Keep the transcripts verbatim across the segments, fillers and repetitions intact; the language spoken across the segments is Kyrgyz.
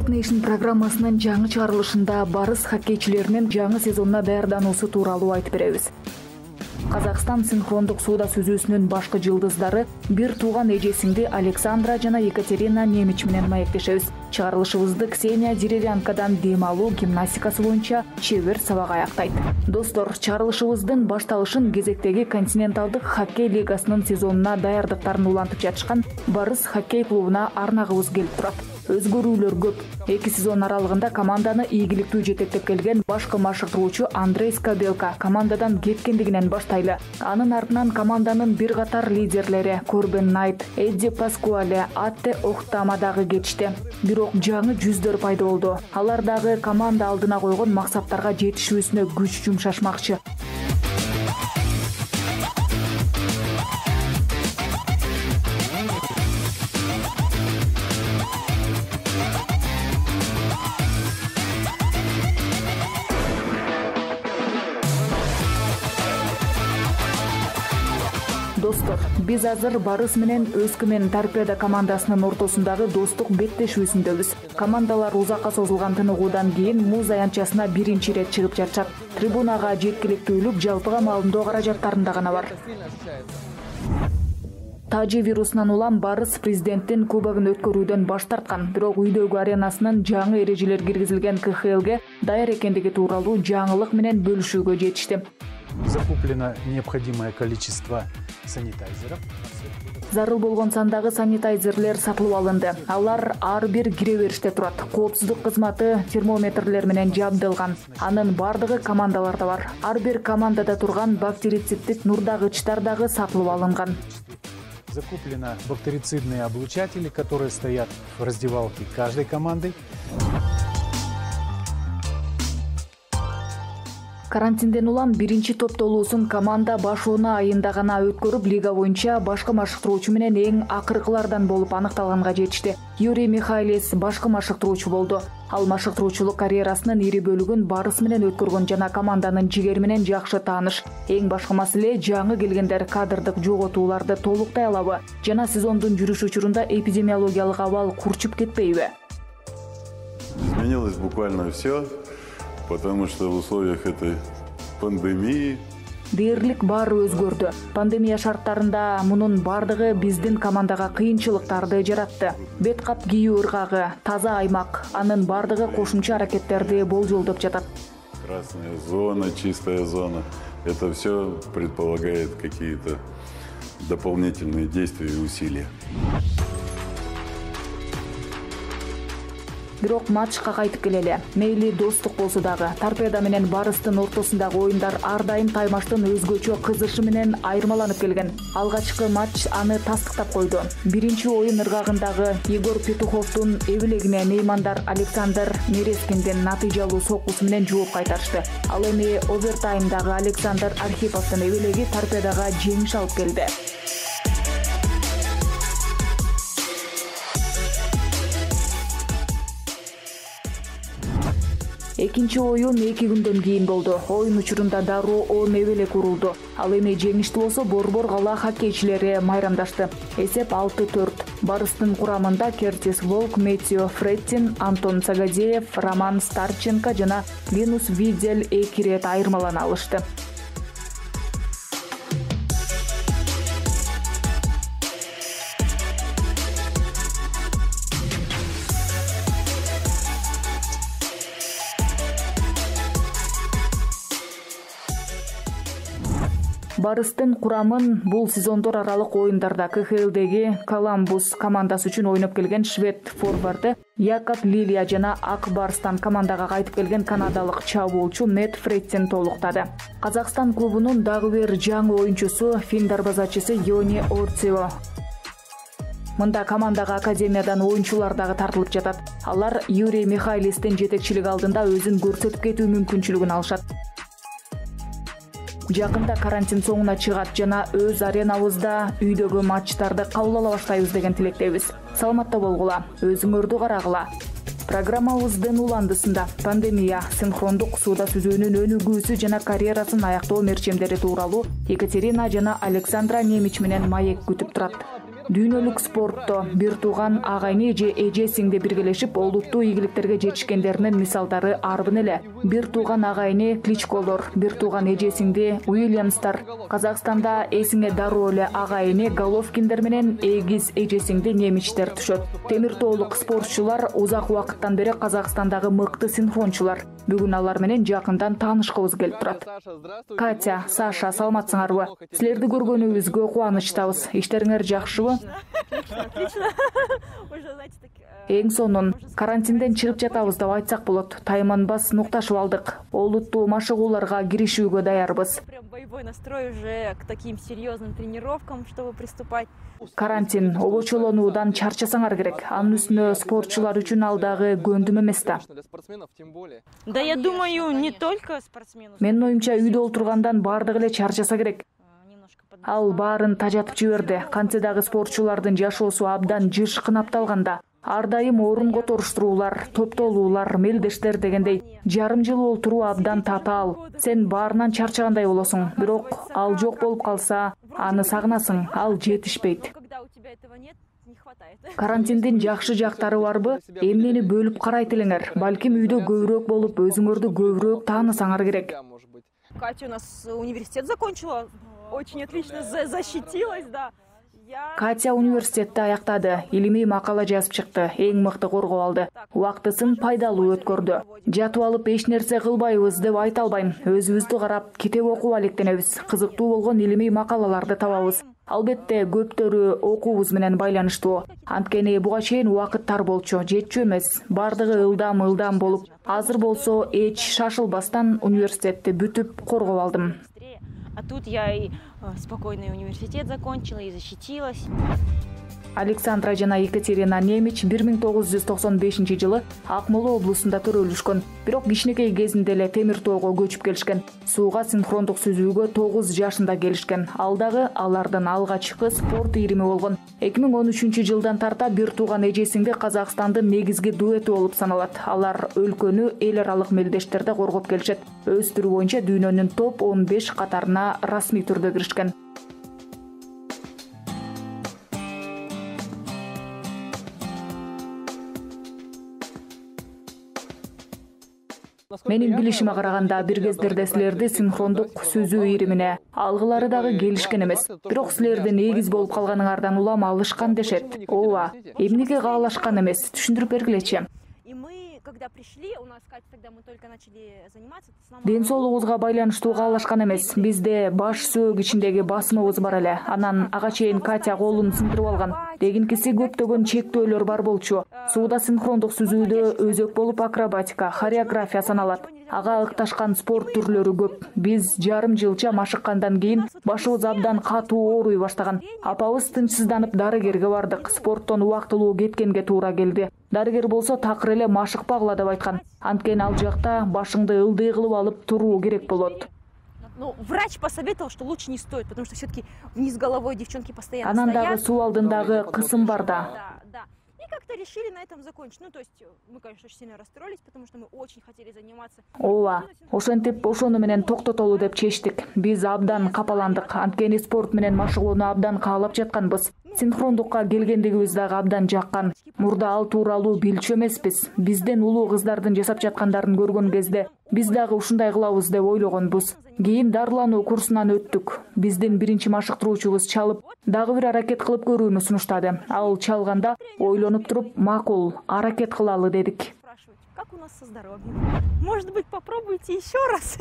Nation программасынын жаңы чыгарылышында барыс хоккейчилеринин жаңы сезонуна даярдануусу тууралуу айтып беребиз. Казакстан синхрондук сууда сүзүүсүнүн башкы жылдыздары бир тууган эже-сиңди Александра жана Екатерина Немич менен маектешебиз. Чыгарылышыбызды Ксения Деревянкадан дем алуу гимнастикасы боюнча чебер сабак аяктайт. Достор, чыгарылышыбыздын башталышын кезектеги континенталдык хоккей лигасынын сезонуна даярдыктарын улантып жатышкан Барыс хоккей клубуна арнагыбыз келип турат. Өзгөрүүлөр көп. Эки сезон аралыгында команданы ийгиликтүү жетектеп келген башкы машыктыруучу Андрей Скабелка командадан кеткендигинен баштайлы. Анын артынан команданын бир катар лидерлери Корбен Найт, Эдди Паскуале, Атте Охтама дагы кетишти. Бирок жаңы жүздөр пайда болду. Алар дагы команда алдына койгон максаттарга жетишүүсүнө күч жумшашмакчы. Достор, биз азыр Барыс менен Өскүмен Торпедо командасынын ортосундагы достук беттешүүсүндөбүз. Командалар узакка созулган тыныгуудан кийин муз аянтчасына биринчи ирет чыгып жатышат. Трибунага жеткиликтүүлүк жалпыга маалымдоо каражаттарында гана бар. Тажи вирусунан улам Барыс президенттин кубогун өткөрүүдөн баш тарткан, бирок үйдөгү аренасынын жаңы эрежелер киргизилген ка ха элге даяр экендиги тууралуу жаңылык менен бөлүшүүгө жетишти. Закуплено необходимое количество санитайзеров. Зарыл болгон сандагы санитайзерлер сатылып алынды. Алар ар бир кире бериште турат. Коопсуздук кызматы термометрлер менен жабдылган. Анын бардыгы командаларда бар. Ар бир командада турган бактерициддик нурдагычтар дагы сатылып алынган. Закуплено бактерицидные облучатели, которые стоят в раздевалке каждой команды. Карантинден улам биринчи топтолуусун команда башууна айында гана өткөрүп, лига боюнча башкы машыктыруучу менен эң акыркылардан болуп аныкталганга жетишти. Юрий Михайлис башкы машыктыруучу болду. Ал машыктыруучулук карьерасынын ири бөлүгүн Барыс менен өткөргөн жана команданын жигери менен жакшы тааныш. Эң башкы маселе жаңы келгендер кадрдык жоготууларды толуктай алабы жана сезондун жүрүш учурунда эпидемиологиялык абал курчуп кетпейби? Изменилось буквально все. Потому что в условиях этой пандемии Дээрлик баары өзгөрдү. Пандемия шарттарында мунун бардыгы биздин командага кыйынчылыктарды жаратты. Бет кап кийүү ыргагы, таза аймак, анын бардыгы кошумча аракеттерди болжолдоп жатат. Красная зона, чистая зона. Это все предполагает какие-то дополнительные действия и усилия. Бирок матчка кайтып келели. Мейли достук болсо дагы, Торпедо менен Барыстын ортосундагы оюндар ар дайым таймаштын өзгөчө кызышы менен айырмаланып келген. Алгачкы матч аны тастыктап койду. Биринчи оюн ыргагындагы Егор Петуховдун эбилегине меймандар Александр Мерескиндин натыйжалуу соккусу менен жооп кайтарышты. Ал эми овертаймдагы Александр Архиповдун эбилеги Торпедога жеңиш алып келди. Экинчи оюн эки күндөн кийин болду. Оюн учурунда дароо он эбелек урулду. Ал эми жеңиштүү болсо Борбор кала хоккейчилери майрамдашты. Эсеп алты төрт. Барыстын курамында Кертис Волк, Метио Фреттин, Антон Сагадеев, Роман Старченко жана Линус Видель эки ирет айырмалана алышты. Барыстын курамын бул сезондор аралык оюндарда ка ха элдеги Коламбус командасы үчүн ойноп келген швед форварды Якоб Лилия жана Ак Барстан командага кайтып келген канадалык чабуулчу Мэтт Фреттин толуктады. Казакстан клубунун дагы бир жаңы оюнчусу фин дарбазачысы Йони Орцио. Мында командага академиядан оюнчулар дагы тартылып жатат. Алар Юрий Михайлистин жетекчилиги алдында өзүн көрсөтүп кетүү мүмкүнчүлүгүн алышат. Жакында карантин соңуна чыгат жана өз аренабызда үйдөгү матчтарды кабыл ала баштайбыз деген тилектебиз. Саламатта болгула, өзүңөрдү карагыла. Программабыздын уландысында пандемия, синхрондук сууда сүзүүнүн өнүгүүсү жана карьерасын аяктоо мерчемдери тууралуу Екатерина жана Александра Немич менен маек күтүп турат. Дүйнөлүк спортто бир тууган агайны же эже сиңди биргелешип олуттуу ийгиликтерге жетишкендеринин мисалдары арбын эле. Бир тууган агайны Кличколор, бир тууган эже сиңди Уильямстар. Казакстанда эсиңе дароо эле агайны Головкиндер менен эгиз эже сиңди немичтер түшөт. Темир тоолук спортчулар узак убакыттан бери Казакстандагы мыкты синхрончулар. Бүгүн алар менен жакындан таанышкыбыз келип турат. Катя, Саша, саламатсыңарбы? Силерди көргөнүбүзгө кубанычтабыз. Иштериңер жакшыбы? Эң сонун карантинден чыгып жатабыз деп айтсак болот. Тайманбас нукташып алдык. Олуттуу машыгууларга киришүүгө даярбыз. Боевой настрой уже к таким серьезным тренировкам, чтобы приступать. Карантин обочолонуудан чарчасаңар керек. Анын үстүнө спортчулар үчүн ал дагы көндүм эмес да. Да, я думаю, не только спортсменов. Менин оюмча үйдө олтургандан бардыгы эле чарчаса керек. Ал баарын тажатып жиберди. Кантсе дагы спортчулардын жашоосу абдан жыш кынапталганда. Ар дайым орун которуштуруулар, топтолуулар, мелдештер дегендей жарым жыл олтуруу абдан татаал. Сен баарынан чарчагандай болосуң. Бирок ал жок болуп калса, аны сагынасың. Ал жетишпейт. Карантиндин жакшы жактары барбы? Эмнени бөлүп карайт элеңер? Балким үйдө көбүрөөк болуп, өзүңөрдү көбүрөөк таанысаңар керек. Катя у нас университет закончила, очень отлично защитилась, да. Катя университетти аяктады, илимий макала жазып чыкты, эң мыкты коргоп алды. Убактысын пайдалуу өткөрдү. Жатып алып эч нерсе кылбайбыз деп айта албайм. Өзүбүздү карап, китеп окуп алектенебиз. Кызыктуу болгон илимий макалаларды табабыз. Албетте көптөрү окуубуз менен байланыштуу. Анткени буга чейин убакыт тар болчу, жетчү эмес. Бардыгы ылдам-ылдам болуп, азыр болсо эч шашылбастан университетти бүтүп коргоп алдым. А тут я и спокойный университет закончила и защитилась. Александра жана Екатерина Немич бир миң тогуз жүз токсон бешинчи жылы Акмола облусунда төрөлүшкөн. Бирок кичинекей кезинде эле Темир тоого көчүп келишкен. Сууга синхрондук сүзүүгө тогуз жашында келишкен. Ал дагы алардын алгачкы спорт ирими болгон. эки миң он үчүнчү жылдан тарта бир тууган эжесиңди Казакстандын негизги дуэти болуп саналат. Алар өлкөнү эл аралык мелдештерде коргоп келишет. Өз түрү боюнча дүйнөнүн топ он беш катарына расмий түрдө киришкен. Менин билишиме караганда бир кездерде силерди синхрондук сүзүү иримине алгылары дагы келишкен эмес. Бирок силердин эгиз болуп калганыңардан улам алышкан дешет. Ооба, эмнеге каалашкан эмес? Түшүндүрүп бергилечи. Ден соолугубузга байланыштуу каалашкан эмес. Бизде баш сөөк ичиндеги басымыбыз бар эле. Анан ага чейин Катя колун сындырып алган. Дегинкиси көптөгөн чектөөлөр бар болчу. Сууда синхрондук сүзүүдө өзөк болуп акробатика, хореография саналат. Ага ыкташкан спорт түрлөрү көп. Биз жарым жылча машыккандан кийин башыбыз абдан катуу ооруй баштаган. Апабыз тынчсызданып дарыгерге бардык. Спорттон убактылуу кеткенге туура келди. Дарыгер болсо такыр эле машыкпагыла деп айткан. Анткени ал жакта башыңды ылдый кылып алып туруу керек болот. Ну, врач посоветовал, что лучше не стоит, потому что все-таки вниз головой девчонки постоянно стоят. Анан дагы суу алдындагы кысым бар да. Да. И как-то решили на этом закончить. Ну, то есть мы, конечно, очень сильно расстроились, потому что мы очень хотели заниматься. Ооба, ошентип ошону менен токтотолу деп чечтик. Биз абдан капаландык. Анткени спорт менен машыгууну абдан каалап жатканбыз. Синхрондукка келгендигибиз дагы абдан жаккан. Мурда ал тууралуу билчү эмеспиз. Бизден улуу кыздардын жасап жаткандарын көргөн кезде биз дагы ушундай кылабыз деп ойлогонбуз. Кийин дарылануу курсунан өттүк. Биздин биринчи машыктыруучубуз чалып, дагы бир аракет кылып көрүүнү сунуштады. Ал чалганда ойлонуп туруп, макул, аракет кылалы дедик. Как у нас со здоровьем? Может быть, попробуйте еще раз?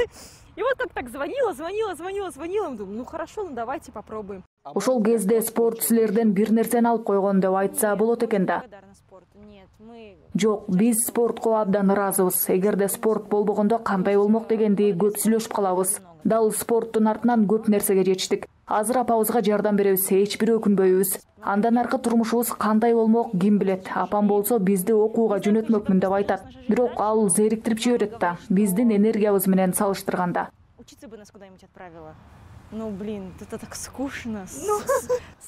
И вот как так звонила, звонила, звонила, звонила. Думаю, ну хорошо, ну давайте попробуем. Ошол кезде спорт силерден бир нерсени алып койгон деп айтса болот экен да. Жок, биз спортко абдан ыраазыбыз. Эгерде спорт болбогондо кандай болмок дегенди көп сүйлөшүп калабыз. Дал спорттун артынан көп нерсеге жетиштик. Азыр апабызга жардам беребиз, эч бир өкүнбөйбүз. Андан аркы турмушубуз кандай болмок ким билет. Апам болсо бизди окууга жөнөтмөкмүн деп айтат. Бирок ал зериктирип жиберет да, биздин энергиябыз менен салыштырганда. Учиться бы нас куда-нибудь отправила. Ну, блин, это так скучно.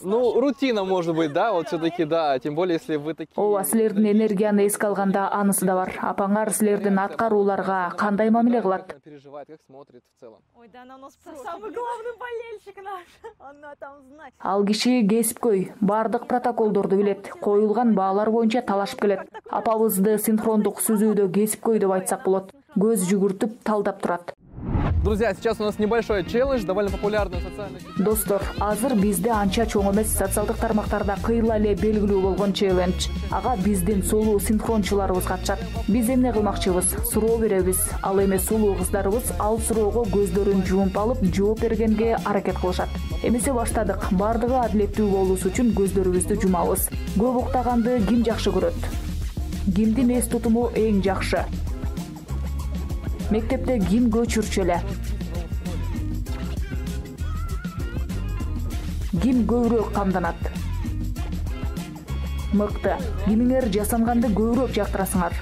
Ну, рутина, может быть, да, вот все-таки, да, тем более, если вы такие... Ооба, силердин энергияны эске алганда анысы да бар. Апаңар силердин аткарууларга кандай мамиле кылат? Переживает, как смотрит в целом. Ой, да она у нас самый главный болельщик наш. Она там знает. Ал киши кесипкөй, бардык протоколдорду билет, коюлган баалар боюнча талашып келет. Апабызды синхрондук сүзүүдө кесипкөй деп айтсак болот. Көз жүгүртүп талдап турат. Друзья, сейчас у нас небольшой челлендж, довольно популярный в социальных сетях. Достор, азыр бизде анча чоң эмес, социалдык тармактарда кыйла эле белгилүү болгон челлендж. Ага биздин сулуу синхрончуларыбыз катышат. Биз эмне кылмакчыбыз? Суроо беребиз. Ал эми сулуу кыздарыбыз ал суроого көздөрүн жумуп алып, жооп бергенге аракет кылышат. Эмесе баштадык. Бардыгы адилеттүү болуусу үчүн көздөрүбүздү жумабыз. Көп уктаганды ким жакшы көрөт? Кимдин эс тутуму эң жакшы? Мектепте ким көчүрчү эле? Ким көбүрөөк камданат? Мыкты. Кимиңер жасанганды көбүрөөк жактырасыңар?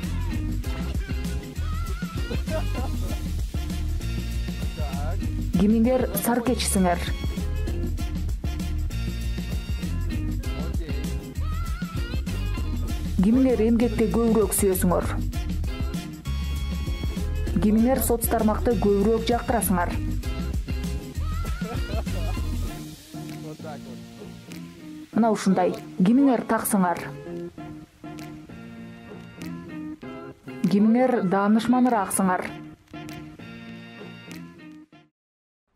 Кимиңер саркечисиңер? Кимиңер эмгекти көбүрөөк сүйөсүңөр? Кимиңер соц тармакты көбүрөөк жактырасыңар? Мына ушундай. Кимиңер таксыңар? Кимиңер даанышманырааксыңар?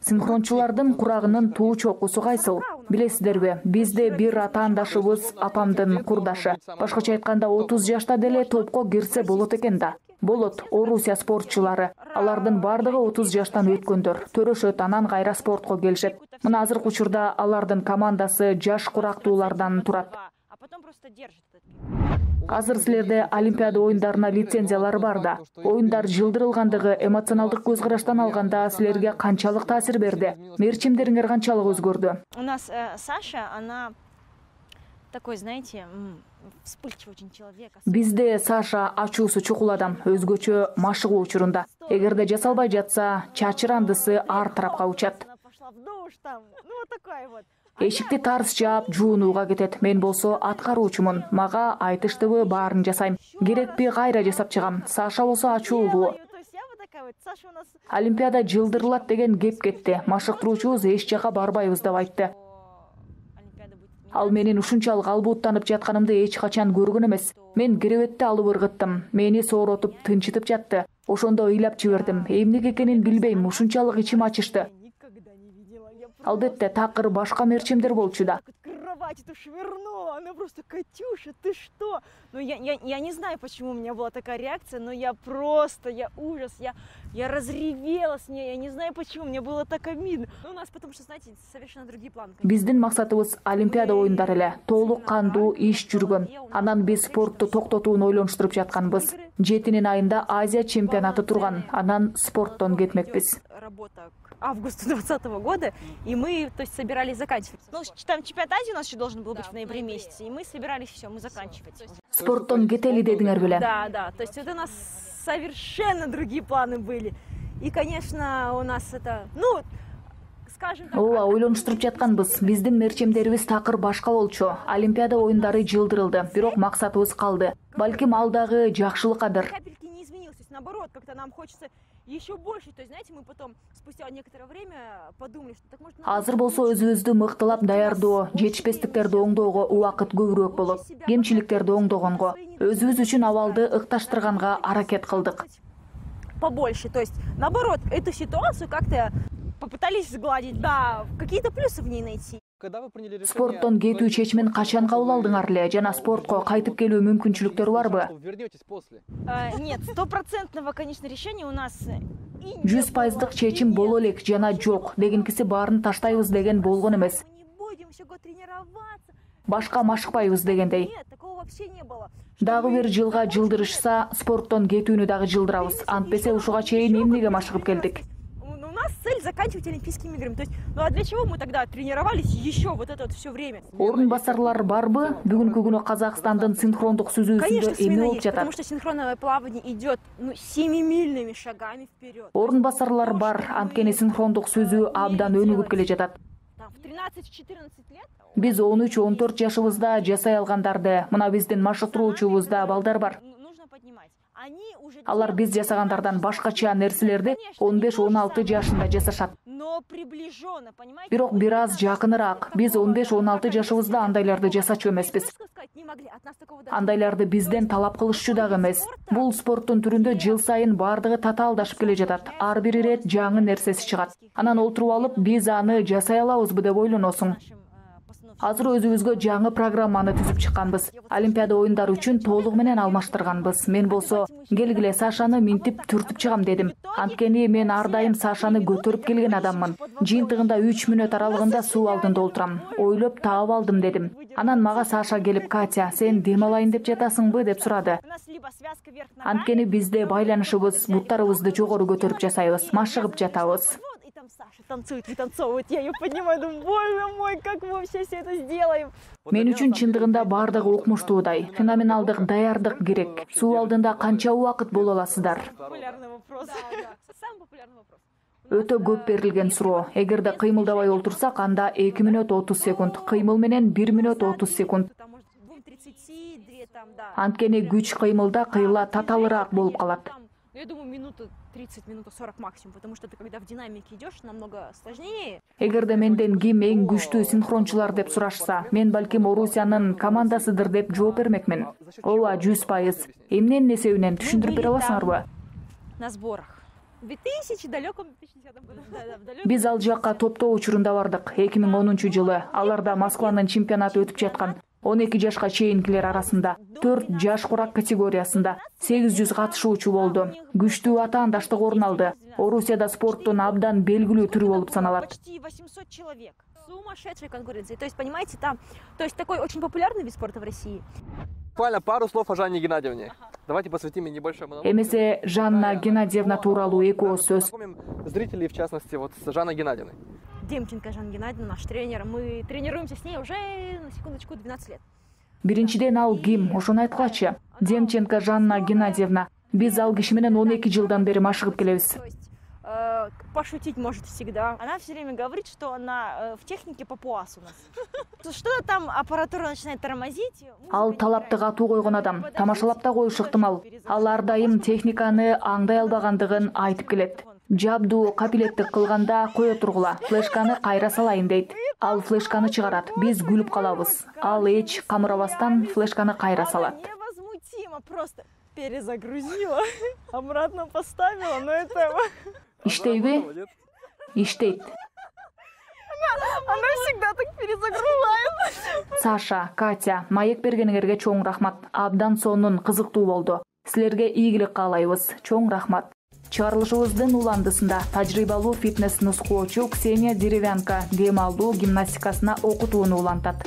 Синхрончулардын курагынын туу чокусу кайсыл? Билесиздерби, бизде бир атаандашыбыз апамдын курдашы. Башкача айтканда отуз жашта деле топко кирсе болот экен да. Болот, Орусия спортчулары. Алардын бардыгы отуз жаштан өткөндөр. Төрөшөт, анан кайра спортко келишет. Мына азыркы учурда алардын командасы жаш курактуулардан турат. Азыр силерде Олимпиада оюндарына лицензиялар бар да. Оюндар жылдырылгандыгы эмоционалдык көз караштан алганда силерге канчалык таасир берди? Мерчимдериңер канчалык өзгөрдү? У нас э, Саша, она такой, знаете, вспыльчивый очень человек. Бизде Саша ачуусу чукул адам, өзгөчө машыгуу учурунда. Эгерде жасалбай жатса, чачырандысы ар тарапка учат. Она пошла в душ там, ну вот такой вот. Эшикти тарс жаап, жуунууга кетет. Мен болсо аткаруучумун. Мага айтыштыбы баарын жасайм. Керекпи кайра жасап чыгам. Саша болсо ачуулуу. Олимпиада жылдырылат деген кеп кетти. Машыктыруучубуз эч жака барбайбыз деп айтты. Ал менин ушунчалык албууттанып жатканымды эч качан көргөн эмес. Мен керебетти алып ыргыттым. Мени сооротуп, тынчытып жатты. Ошондо ыйлап жибердим. Эмне экенин билбейм, ушунчалык ичим ачышты. Албетте, такыр башка мерчимдер болчу да. Кровать-то швырнула, она просто: Катюша, ты что? Ну я, я, я не знаю, почему у меня была такая реакция, но я просто, я ужас, я, я разревелась с ней, я не знаю почему, мне было так обидно. Ну у нас, потому что, знаете, совершенно другие планы. Биздин максатыбыз Олимпиада оюндары эле, толук кандуу иш жүргөн. Анан биз спортту токтотууну ойлонуштуруп жатканбыз. жетинин айында Азия чемпионаты турган, анан спорттон кетмекпиз. Работа к августу двадцатого года, и мы, то есть, собирались заканчивать. Ну, там чемпионат Азии у нас еще должен был быть в ноябре месяце, и мы собирались, все, мы заканчивать. Спорттон кетели дедиңер беле. Да, да, то есть это у нас совершенно другие планы были. И, конечно, у нас это, ну, скажем так... Ооба, ойлонуштуруп жатканбыз. Биздин мерчемдерибиз такыр башка болчу. Олимпиада оюндары жылдырылды, бирок максатыбыз калды. Балким ал дагы жакшылыккадыр. Капельки не изменилось, то есть наоборот, как-то нам хочется еще больше, то есть, знаете, мы потом спустя некоторое время подумали, что так может... Азыр болсо өзүбүздү мыктылап даярдоо, жетишпестиктерди оңдоого убакыт көбүрөөк болот. Кемчиликтерди оңдогонго, өзүбүз үчүн абалды ыкташтырганга аракет кылдык. Побольше, то есть, наоборот, эту ситуацию как-то попытались сгладить, да, какие-то плюсы в ней найти. Спорттон кетүү чечимин качан кабыл алдыңар эле жана спортко кайтып келүү мүмкүнчүлүктөрү барбы? Нет, стопроцентного, конечно, решения у нас... жүз пайыздык чечим боло элек жана жок, дегенкиси баарын таштайбыз деген болгон эмес. Башка машыкпайбыз дегендей. Нет, такого вообще не было. Дагы бир жылга жылдырышса, спорттон кетүүнү дагы жылдырабыз. Антпесе ушуга чейин эмнеге машыгып келдик? У нас цель заканчивать Олимпийскими играми. То есть, ну а для чего мы тогда тренировались еще вот это вот все время? Орун басарлар барбы? Бүгүнкү күнү Казакстандын синхрондук сүзүүсүндө эме болуп жатат? Потому что синхронное плавание идет ну, семимильными шагами вперед. Орун басарлар бар, анткени синхрондук сүзүү абдан өнүгүп келе жатат. В тринадцать-четырнадцать лет Биз он үч он төрт жашыбызда жасай алгандарды, мына биздин машыктыруучубузда балдар бар. Алар биз жасагандардан башкача нерселерди он беш он алты жашында жасашат. Бирок бир аз жакыныраак. Биз он беш он алты жашыбызда андайларды жасачу эмеспиз. Андайларды бизден талап кылышчу дагы эмес. Бул спорттун түрүндө жыл сайын бардыгы татаалдашып келе жатат. Ар бир ирет жаңы нерсеси чыгат. Анан олтуруп алып, биз аны жасай алабызбы деп ойлоносуң. Азыр өзүбүзгө жаңы программаны түзүп чыкканбыз. Олимпиада оюндары үчүн толугу менен алмаштырганбыз. Мен болсо келгиле Сашаны минтип түртүп чыгам дедим. Анткени мен ар дайым Сашаны көтөрүп келген адаммын. Жыйынтыгында үч мүнөт аралыгында суу алдында олтурам. Ойлоп таап алдым дедим. Анан мага Саша келип, Катя, сен дем алайын деп жатасыңбы деп сурады. Анткени бизде байланышыбыз, буттарыбызды жогору көтөрүп жасайбыз, машыгып жатабыз. Танцует, вытанцовывает. Я ее поднимаю, думаю, боже мой, как мы вообще все это сделаем. Мен үчүн чындыгында бардыгы укмуштуудай. Феноменалдык даярдык керек. Суу алдында канча убакыт боло аласыздар? Популярный вопрос. Самый популярный вопрос. Өтө көп берилген суроо. Эгерде кыймылдабай олтурсак, анда эки мүнөт отуз секунд, кыймыл менен бир мүнөт отуз секунд. Анткени күч кыймылда кыйла таталыраак болуп калат. Я думаю, минута тридцать, минута сорок максимум, потому что ты когда в динамике идешь, намного сложнее. Эгерде менден ким эң күчтүү синхрончулар деп сурашса, мен балким Орусиянын командасыдыр деп жооп бермекмин. Ооба, жүз пайыз. Эмненин эсебинен түшүндүрүп бере аласыңарбы? На сборах. В две тысячи далеком две тысячи десятом году. Биз ал жакка топтоо учурунда бардык. эки миң онунчу жылы аларда Москванын чемпионаты өтүп жаткан. он эки жашка чейинкилер арасында, төрт жаш курак категориясында сегиз жүз катышуучу болду. Күчтүү атаандаштык орун алды. Орусияда спорттун абдан белгилүү түрү болуп саналат. Почти восемьсот человек. Сумасшедшая конкуренция. То есть, понимаете, там, то есть такой очень популярный вид спорта в России. Буквально пару слов о Жанне Геннадьевне. Давайте посвятим ей небольшой монолог. Эмесе Жанна Геннадьевна тууралуу эки ооз сөз. Знакомим зрителей, в частности, вот с Жанной Геннадьевной. Демченко Жанна Геннадьевна, наш тренер. Мы тренируемся с ней уже, на секундочку, двенадцать лет. Биринчиден ал ким? Ошону айткылачы. Демченко Жанна Геннадьевна. Биз ал киши менен он эки жылдан бери машыгып келебиз. Пошутить может всегда. Она все время говорит, что она в технике папуас у нас. Что-то там аппаратура начинает тормозить. Ал талапты катуу койгон адам. Тамашалап да коюшу ыктымал. Ал ар дайым техниканы аңдай албагандыгын айтып келет. Жабдуу капилеттик кылганда кое тургула, флешканы кайра салайын дейт. Ал флешканы чыгарат. Биз күлүп калабыз. Ал эч камырабастан флешканы кайра салат. Невозмутимо, просто перезагрузила, обратно поставила, но это... Иштейби? Иштейт. Она всегда так перезагружает. Саша, Катя, маек бергениңерге чоң рахмат. Абдан сонун кызыктуу болду. Силерге ийгилик каалайбыз. Чоң рахмат. Чыгарылышыбыздын уландысында тажрыйбалуу фитнес нускоочу Ксения Деревянка дем алуу гимнастикасына окутууну улантат.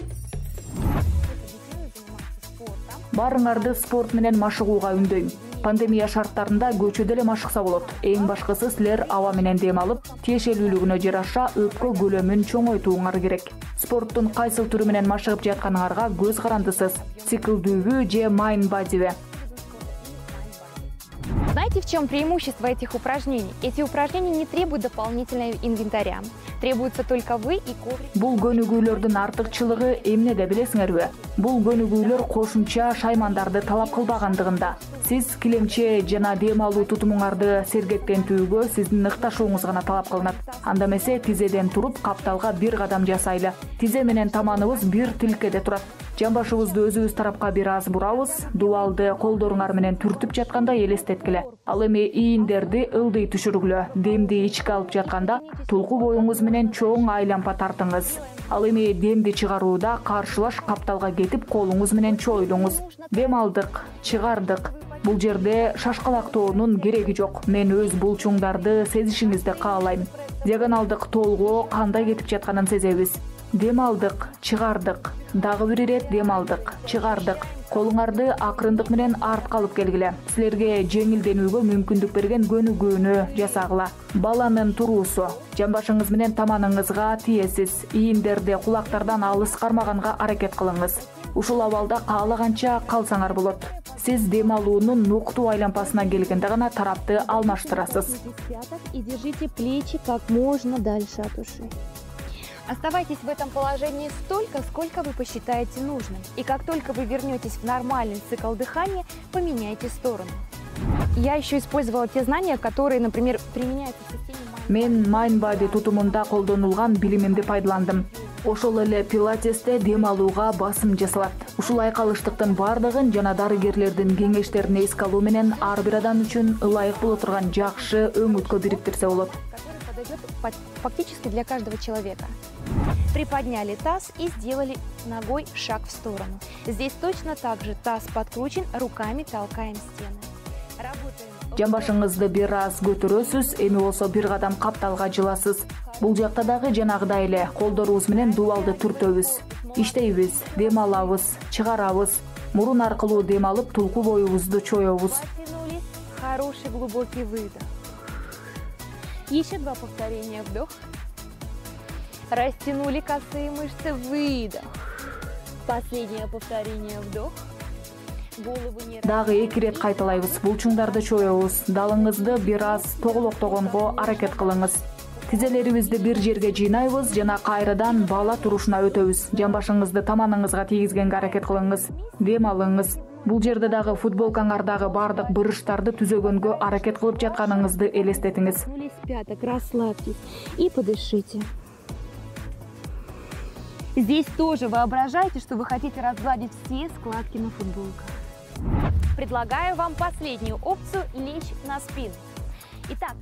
Барыңарды спорт менен машыгууга үндөйм. Пандемия шарттарында көчөдө эле машыкса болот. Эң башкысы силер аба менен дем алып, тиешелүүлүгүнө жараша өпкө көлөмүн чоңойтууңар керек. Спорттун кайсыл түрү менен машыгып жатканыңарга көз карандысыз. Циклдүүбү же майн бадиби? Знаете, в чем преимущество этих упражнений? Эти упражнения не требуют дополнительного инвентаря. Требуются только вы и коврик. Бул көнүгүүлөрдүн артыкчылыгы эмнеде билесиңерби? Бул көнүгүүлөр кошумча шаймандарды талап кылбагандыгында. Сиз килемче жана дем алуу тутумуңарды сергектентүүгө сиздин ыкташууңуз гана талап кылынат. Анда эмесе тизеден туруп капталга бир кадам жасайлы. Тизе менен таманыбыз бир тилкеде турат. Жамбашыбызды өзүбүз тарапка бир аз бурабыз, дубалды колдоруңар менен түртүп жатканда элестеткиле. Ал эми ийиндерди ылдый түшүргүлө. Демди ичке алып жатканда тулку боюңуз менен чоң айлампа тартыңыз. Ал эми демди чыгарууда каршылаш капталга кетип колуңуз менен чойлуңуз. Дем алдык, чыгардык. Бул жерде шашкалактоонун кереги жок. Мен өз булчуңдарды сезишиңизди каалайм. Диагоналдык толгоо кандай кетип жатканын сезебиз. Дем алдык, чыгардык. Дагы бир ирет дем алдык, чыгардык. Колуңарды акырындык менен артка алып келгиле. Силерге жеңилденүүгө мүмкүндүк берген көнүгүүнү жасагыла. Баланын туруусу. Жамбашыңыз менен таманыңызга тиесиз. Ийиндерди кулактардан алыс кармаганга аракет кылыңыз. Ушул абалда каалаганча калсаңар болот. Сиз дем алуунун нуктуу айлампасына келгенде гана тарапты алмаштырасыз. И держите плечи как можно дальше от ушей. Оставайтесь в этом положении столько, сколько вы посчитаете нужным. И как только вы вернетесь в нормальный цикл дыхания, поменяйте сторону. Я еще использовала те знания, которые, например, применяются в системе Мен Mindbody тутумунда колдонулган билимимди пайдаландым. Ошол эле пилатесте дем алууга басым жасалат. Ушул айкалыштыктын бардыгын жана дарыгерлердин кеңештерин эске алуу менен ар бир адам үчүн ылайык боло турган жакшы өңүткө бириктирсе болот. который подойдет фактически для каждого человека. Приподняли таз и сделали ногой шаг в сторону. Здесь точно так же таз подкручен, руками толкаем стены. Работаем. Жамбашыңызды бир аз көтөрөсүз, эми болсо бир кадам капталга жыласыз. Бул жакта дагы жанагыдай эле колдорубуз менен дубалды түртөбүз. Иштейбиз, дем алабыз, чыгарабыз. Мурун аркылуу дем алып, тулку боюбузду чоебуз. Растянулись. Хороший глубокий выдох. Еще два повторения. Вдох. Растянули косые мышцы. Выдох. Последнее повторение. Вдох. Голову не Дагы эки ирет кайталайбыз. Булчуңдарды чоебуз. Далыңызды бир аз тоголоктогонго аракет кылыңыз. Тизелерибизди бир жерге жыйнайбыз жана кайрадан бала турушуна өтөбүз. Жамбашыңызды таманыңызга тийгизгенге аракет кылыңыз. Дем алыңыз. Бул жерде дагы футболкаңардагы бардык бырыштарды түзөгөнгө аракет кылып жатканыңызды элестетиңиз. пяток, расслабьтесь и подышите. Здесь тоже воображайте, что вы хотите разгладить все складки на футболках. Предлагаю вам последнюю опцию – лечь на спину. Итак,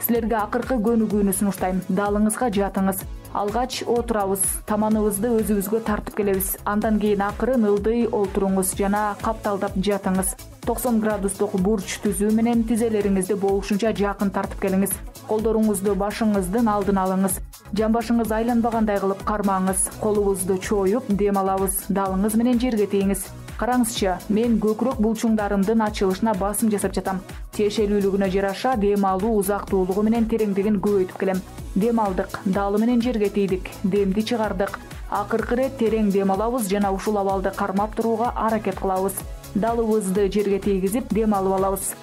Силерге акыркы көнүгүүнү сунуштайм. Далыңызга жатыңыз. Алгач отурабыз, таманыбызды өзүбүзгө тартып келебиз. Андан кийин акырын ылдый олтуруңуз жана капталдап жатыңыз. токсон градустук бурч түзүү менен тизелериңизди болушунча жакын тартып келиңиз. Колдоруңузду башыңыздын алдына алыңыз. Жамбашыңыз айланбагандай кылып кармаңыз. Колубузду чоюп дем алабыз. Далыңыз менен жерге тийиңиз. Караңызчы, мен көкүрөк булчуңдарымдын ачылышына басым жасап жатам. Тиешелүүлүгүнө жараша дем алуу узактуулугу менен тереңдигин көбөйтүп келем. Дем алдык, далы менен жерге тийдик, демди чыгардык. Акыркы ирет терең дем алабыз жана ушул абалды кармап турууга аракет кылабыз. Далыбызды жерге тийгизип дем алып алабыз.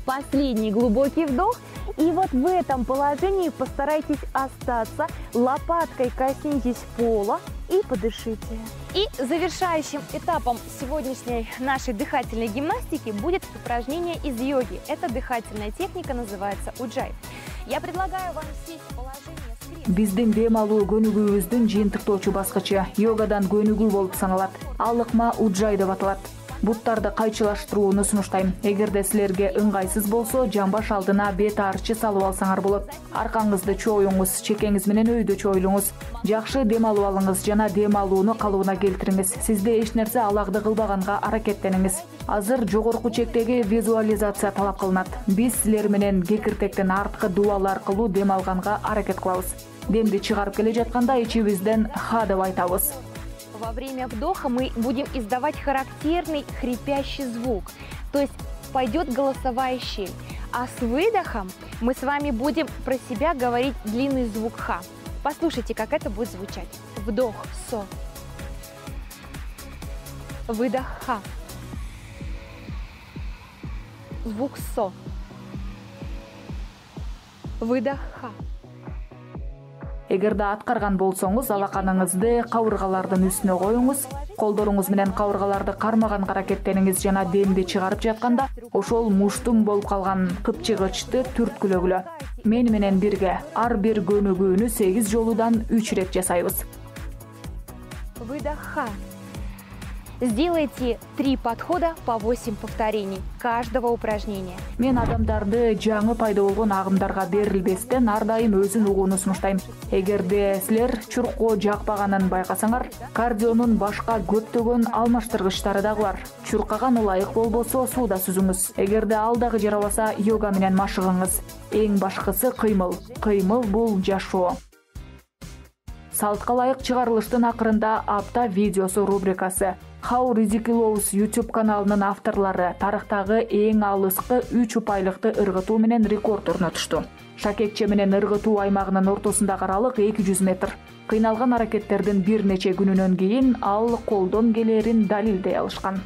последний глубокий вдох. И вот в этом положении постарайтесь остаться. Лопаткой коснитесь пола и подышите. И завершающим этапом сегодняшней нашей дыхательной гимнастики будет упражнение из йоги. Эта дыхательная техника называется уджай. Я предлагаю вам сесть в положение с креслом. Биздин дем алуу көнүгүүбүздүн жыйынтыктоочу баскычы йогадан көнүгүү болуп саналат. Ал ыкма уджай деп аталат. Буттарды кайчылаштырууну сунуштайм. Эгерде силерге ыңгайсыз болсо, жамбаш алдына бет арчы салып алсаңар болот. Аркаңызды чоюңуз, чекеңиз менен өйдө чоюлуңуз. Жакшы дем алып алыңыз жана дем алууну калыбына келтириңиз. Сизде эч нерсе алагды кылбаганга аракеттениңиз. Азыр жогорку чектеги визуализация талап кылынат. Биз силер менен кекиртектен арткы дубал аркылуу дем алганга аракет кылабыз. Демди чыгарып келе жатканда ичибизден ха деп айтабыз. Во время вдоха мы будем издавать характерный хрипящий звук, то есть пойдет голосовая щель. А с выдохом мы с вами будем про себя говорить длинный звук ха. Послушайте, как это будет звучать. Вдох со. Выдох ха. Звук со. Выдох ха. Эгерде аткарган болсоңуз, алаканыңызды кабыргалардын үстүнө коюңуз. Колдоруңуз менен кабыргаларды кармаган аракеттениңиз жана демди чыгарып жатканда, ошол муштум болуп калган кыпчыгычты түрткүлөгүлө. Мени менен бирге ар бир көнүгүүнү сегиз жолудан үч ирет жасайбыз. Выдох ха. Сделайте три подхода по восемь повторений каждого упражнения. Мен адамдарды жаңы пайда болгон агымдарга берилбестен ар дайым өзүн угууну сунуштайм. Эгерде силер чуркоо жакпаганын байкасаңар, кардионун башка көптөгөн алмаштыргычтары дагы бар. Чуркаган ылайык болбосо сууда сүзүңүз. Эгерде ал дагы жарабаса, йога менен машыгыңыз. Эң башкысы кыймыл. Кыймыл бул жашоо. Салтка ылайык чыгарылыштын акырында апта видеосу рубрикасы. How Ridiculous YouTube каналынын авторлору тарыхтагы эң алыскы үч упайлыкты ыргытуу менен рекорд орнотушту. Шакекче менен ыргытуу аймагынын ортосундагы аралык эки жүз метр. Кыйналган аракеттердин бир нече күнүнөн кийин ал колдон келерин далилдей алышкан.